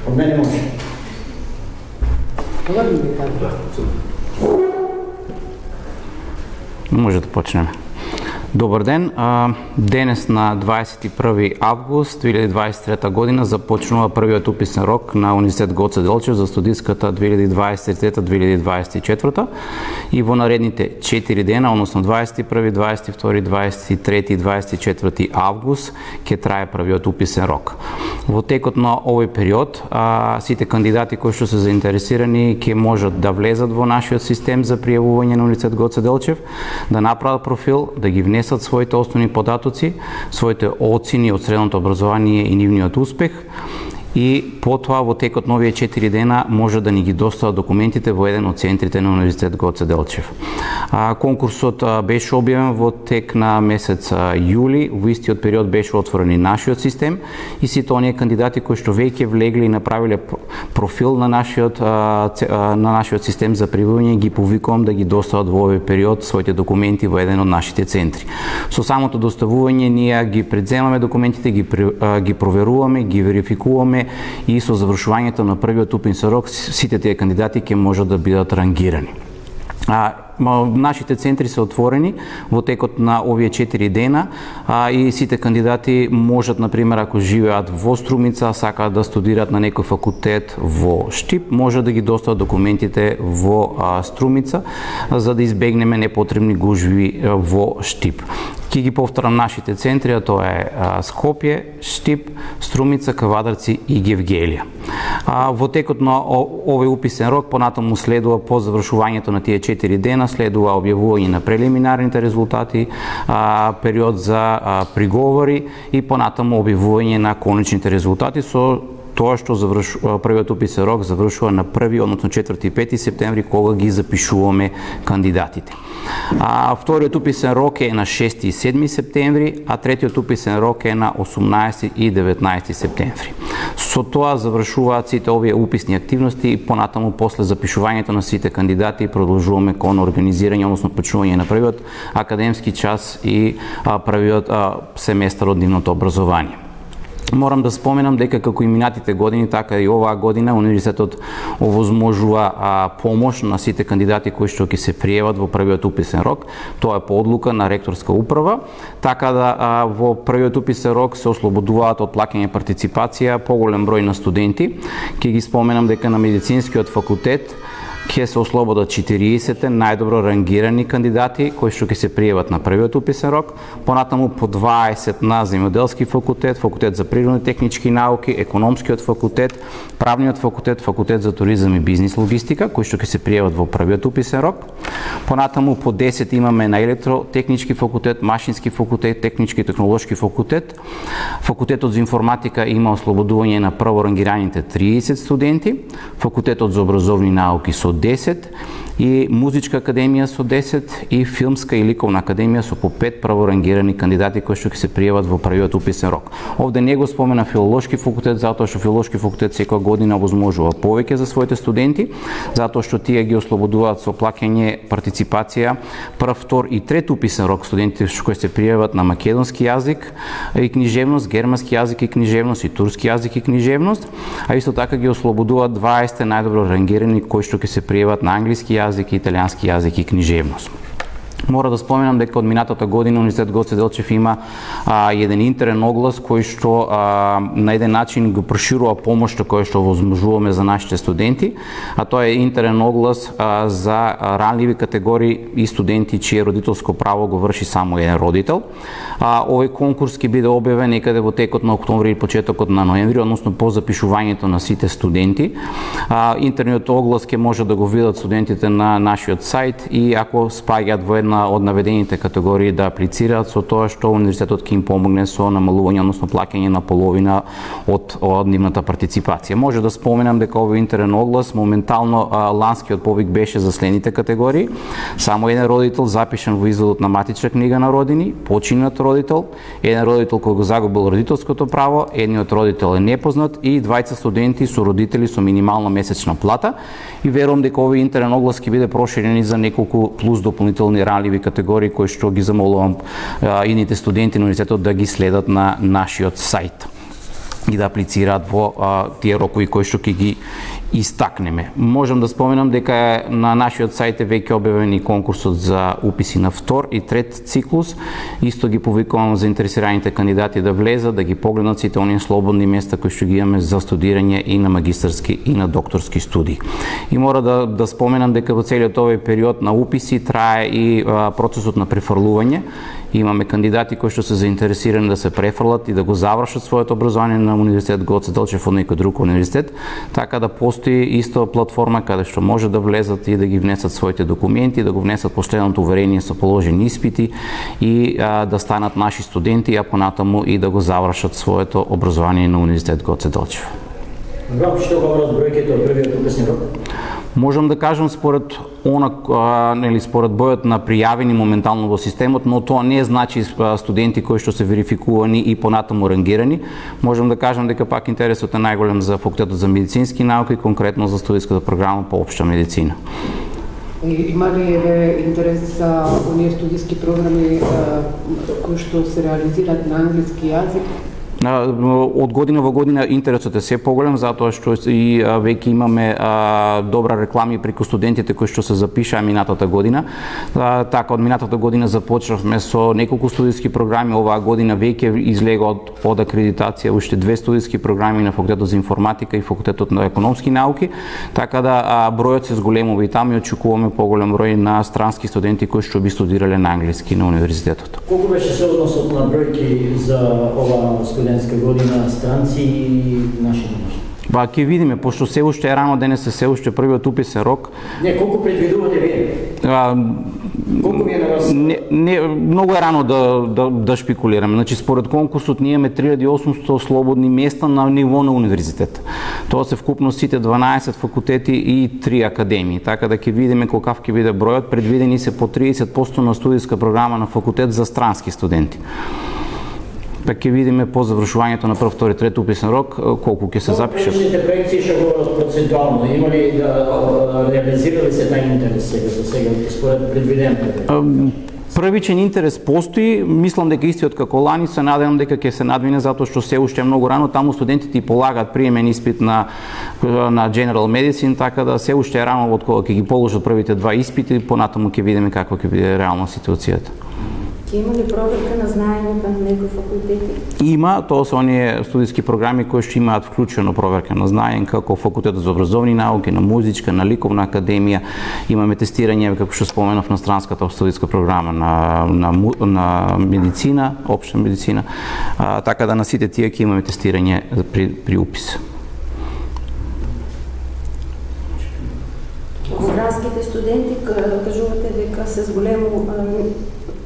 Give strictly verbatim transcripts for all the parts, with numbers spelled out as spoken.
Од мене може. Може да почнеме. Добар ден. Денес на дваесет и први август две илјади дваесет и трета година започнува првиот уписен рок на Универзитет Гоце Делчев за студиската две илјади дваесет и трета - две илјади дваесет и четврта и во наредните четири дена, односно дваесет и први, дваесет и втори, дваесет и трети и дваесет и четврти август ќе трае првиот уписен рок. Во текот на овој период а, сите кандидати кои што се заинтересирани ќе можат да влезат во нашиот систем за пријавување на Универзитет Гоце Делчев, да направат профил, да ги внесат своите основни податоци, своите оцени од средното образование и нивниот успех, и потоа во текот на овие четири дена може да ни ги достават документите во еден од центрите на Универзитет Гоце Делчев. А, конкурсот а, беше објавен во тек на месец а, јули, во истиот период беше отворен и нашиот систем и сите оние кандидати кои што веќе влегли и направиле профил на нашиот а, на нашиот систем за пријавување ги повикувам да ги достават во овој период своите документи во еден од нашите центри. Со самото доставување ние ги предземаме документите, ги а, ги проверуваме, ги верификуваме и со завршувањето на првиот уписен рок сите тие кандидати ќе можат да бидат рангирани. А, нашите центри се отворени во текот на овие четири дена а, и сите кандидати можат, например, ако живеат во Струмица, сакаат да студираат на некој факултет во Штип, може да ги достават документите во а, Струмица, за да избегнеме непотребни гужви а, во Штип. Ќе ги повторам нашите центри, а тоа е а, Скопје, Штип, Струмица, Кавадарци и Гевгелија. А, во текот на овој уписен рок понатаму следува по завршувањето на тие четири дена, следува објавување на прелиминарните резултати, а, период за а, приговори и понатаму објавување на конечните резултати со тоа што заврш... првиот уписен рок завршува на први, односно четврти и пети септември, кога ги запишуваме кандидатите. А, вториот уписен рок е на шести и седми септември, а третиот уписен рок е на осумнаесети и деветнаесети септември. Со тоа завршуваат сите овие уписни активности и понатаму после запишувањето на сите кандидати продолжуваме кон организирање, односно почнување на првиот академски час и а, првиот а, семестар од нивното образование. Морам да споменам дека како и минатите години, така и оваа година Универзитетот овозможува а, помош на сите кандидати кои што ќе се пријават во првиот уписен рок. Тоа е по одлука на ректорска управа, така да а, во првиот уписен рок се ослободуваат од плаќање партиципација поголем број на студенти. Ќе ги споменам дека на медицинскиот факултет ќе се ослободат четириесет најдобро рангирани кандидати кои што ќе се пријават на првиот уписен рок, понатаму по дваесет на земјоделски факултет, факултет за природни технички науки, економскиот факултет, правниот факултет, факултет за туризам и бизнис логистика, кои што ќе се пријават во првиот уписен рок. Понатаму по десет имаме на електротехнички факултет, машински факултет, технички и технолошки факултет. Факултетот за информатика има ослободување на прво рангираните триесет студенти, факултетот за образовни науки со десет и музичка академија со десет и филмска и ликовна академија со по пет праворангирани кандидати кои што ќе се пријават во првиот уписен рок. Овде не го спомена филолошки факултет, затоа што филолошки факултет секоја година овозможува повеќе за своите студенти, затоа што тие ги ослободуваат со плаќање партиципација прв, втор и трет уписен рок студентите кои се пријават на македонски јазик и книжевност, германски јазик и книжевност и турски јазик и книжевност, а исто така ги ослободуваат дваесет најдобро рангирани кои што ќе се пријават на англиски јазик, италијански јазик и книжевност. Мора да споменам дека од минатата година Универзитет Гоце Делчев има а, еден интерен оглас кој што а, на еден начин го проширува помошта која што возможуваме за нашите студенти, а тоа е интерен оглас а, за ранливи категории и студенти чие родителско право го врши само еден родител. А, овој конкурс ќе биде објавен некаде во текот на октомври и почетокот на ноември, односно по запишувањето на сите студенти. А, интерниот оглас ќе може да го видат студентите на нашиот сајт и ако спаѓаат во една од наведените категории да аплицираат, со тоа што универзитетот ќе им помогне со намалување, односно плаќање на половина од, од нивната партиципација. Може да споменам дека овој интерен оглас моментално а, ланскиот повик беше за следните категории: само еден родител запишан во изводот на матична книга на родини, починат родител, еден родител кој го загубил родителското право, едниот родител е непознат и двајца студенти со родители со минимална месечна плата. И верувам дека овој интерен оглас ќе биде проширен и за неколку плюс дополнителни ранливи категории кои што ги замолувам а, ините студенти на универзитетот да ги следат на нашиот сајт. и да аплицираат во а, тие рокови кои што ќе ги истакнеме. Можам да споменам дека на нашиот сајт е веќе објавен и конкурсот за уписи на втор и трет циклус. Исто ги повикувам заинтересираните кандидати да влезат, да ги погледнат сите оние слободни места кои што ги имаме за студирање и на магистарски и на докторски студии. И мора да, да споменам дека во целиот овој период на уписи трае и а, процесот на префрлување. Имаме кандидати кои што се заинтересирани да се префрлат и да го завршат своето образование на Универзитет Гоце Делчев од некој друг универзитет, така да постои исто платформа каде што може да влезат и да ги внесат своите документи, да го внесат последното уверение со положени испити и а, да станат наши студенти, а понатаму и да го завршат своето образование на Универзитет Гоце Делчев. Грам, што говорат бројките од првиот уписни рок? Можам да кажам според она, а, нели, според бројот на пријавени моментално во системот, но тоа не значи студенти кои што се верификувани и понатаму рангирани. Можам да кажам дека пак интересот е најголем за факултетот за медицински науки, конкретно за студиската програма по општа медицина. Има ли еве интерес за оние студиски програми кои што се реализираат на англиски јазик? Од година во година интересот е се поголем, затоа што и веќе имаме а, добра реклами преку студентите кои што се запишаа минатата година. А, така, од минатата година започнавме со неколку студиски програми, оваа година веќе излега од, од акредитација уште две студиски програми на факултетот за информатика и факултетот на економски науки, така да а, бројот се зголемува и таму и очекуваме поголем број на странски студенти кои што би студирале на англиски на универзитетот. Колку беше соодносот на бројки за ова студентска година, странци и наши домашни? Ба, ќе видиме, пошто се уште е рано, денес е се уште првиот уписен рок. Не, колку предвидувате вие? А, колку ви е на вас? Не, не, многу е рано да, да, да шпекулираме. Значи, според конкурсот ние имаме три илјади и осумстотини слободни места на ниво на универзитет. Тоа се вкупно сите дванаесет факултети и три академии. Така да ќе видиме колкав ќе биде бројот. Предвидени се по триесет проценти на студиска програма на факултет за странски студенти. Па ќе видиме по завршувањето на прв, втори, трет уписен рок колку ќе се запишат. Различните проекции што говорат процентуално, има ли да реализирали се тај интерес сега за сега според предвиденото? Првичен интерес постои, мислам дека истиот како лани, се надевам дека ќе се надвине затоа што се уште е многу рано, таму студентите и полагаат приемен испит на на General Medicine, така да се уште е рано од кога ќе ги положат првите два испити, понатаму ќе видиме каква ќе биде реална ситуацијата. Има ли проверка на знаењето на некои факултети? Има, тоа се оние студиски програми кои што имаат вклучено проверка на знаење, како факултетот за образовни науки, на музичка, на ликовна академија. Имаме тестирање, како што споменав, на странската студиска програма на, на, на медицина, општа медицина, а, така да на сите тие ќе имаме тестирање при, при упис. Странските студенти кажувате дека се зголемо.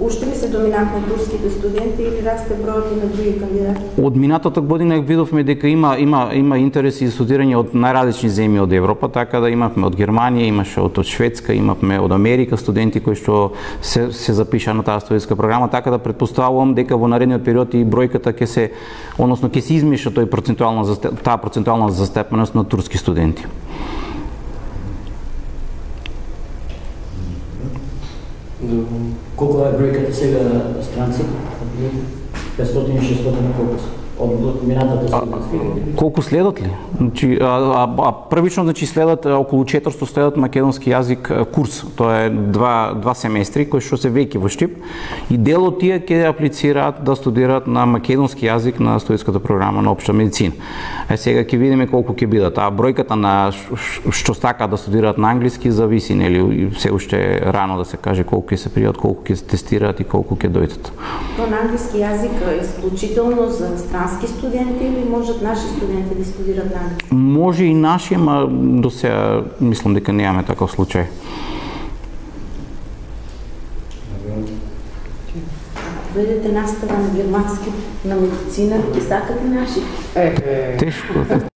Уште ли се доминантно турските студенти или расте бројот и на други кандидати? Од минатата година видовме дека има има има интерес и студирање од најразлични земји од Европа, така да имавме од Германија, имаше од, од Шведска, имавме од Америка студенти кои што се се запишаа на таа студиска програма, така да претпоставувам дека во наредниот период и бројката ќе се, односно ќе се измеша тој процентуална таа процентуална застапеност на турски студенти. Колку е бројката сега странци? петстотини шестстотини колку се? Од минатата студентска година? Колку следат ли? Значи, а, а, а првично значи следат околу четиристотини следат македонски јазик курс. Тоа е два два семестри кои што се веќе во Штип и дел од тие ќе аплицираат да студираат на македонски јазик на студиската програма на општа медицина. Е сега ќе видиме колку ќе бидат. А бројката на што стакаат да студираат на англиски зависи, нели, се уште рано да се каже колку ќе се пријат, колку ќе се тестираат и колку ќе дојдат. Тоа на англиски јазик е исклучително за странски студенти или можат наши студенти да студираат на англиски? Може и наши, ама до сега мислам дека немаме таков случај. Ако ведете настава на германски, на медицина, ќе сакате наши? Тешко.